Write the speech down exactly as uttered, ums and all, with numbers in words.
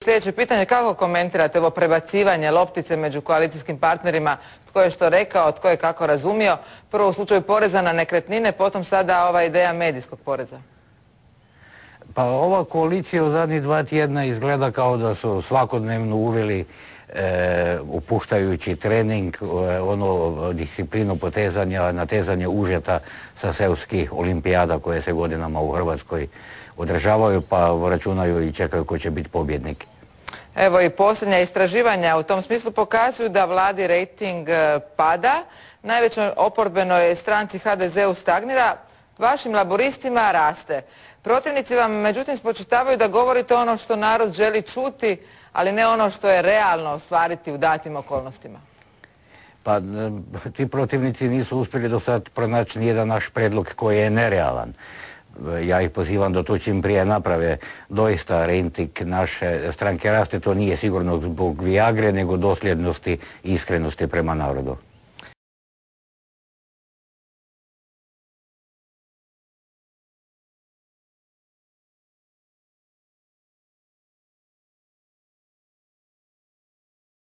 sljedeće pitanje. Kako komentirate ovo prebacivanje loptice među koalicijskim partnerima? Tko je što rekao, tko je kako razumio? Prvo u slučaju poreza na nekretnine, potom sada ova ideja medijskog poreza. Pa ova koalicija u zadnjih dva tjedna izgleda kao da su svakodnevno uveli e, upuštajući trening, e, ono disciplinu potezanja, natezanje užeta sa seoskih olimpijada koje se godinama u Hrvatskoj održavaju, pa računaju i čekaju ko će biti pobjednik. Evo i posljednja istraživanja u tom smislu pokazuju da vladi rejting pada, najvećoj oporbenoj stranci ha de zeu stagnira, vašim laburistima raste. Protivnici vam međutim spočitavaju da govorite ono što narod želi čuti, ali ne ono što je realno ostvariti u datim okolnostima. Pa ti protivnici nisu uspjeli do sad pronaći nijedan naš predlog koji je nerealan. Ja ih pozivam da to čim prije naprave. Doista rejting naše stranke raste, to nije sigurno zbog Viagre, nego dosljednosti i iskrenosti prema narodu.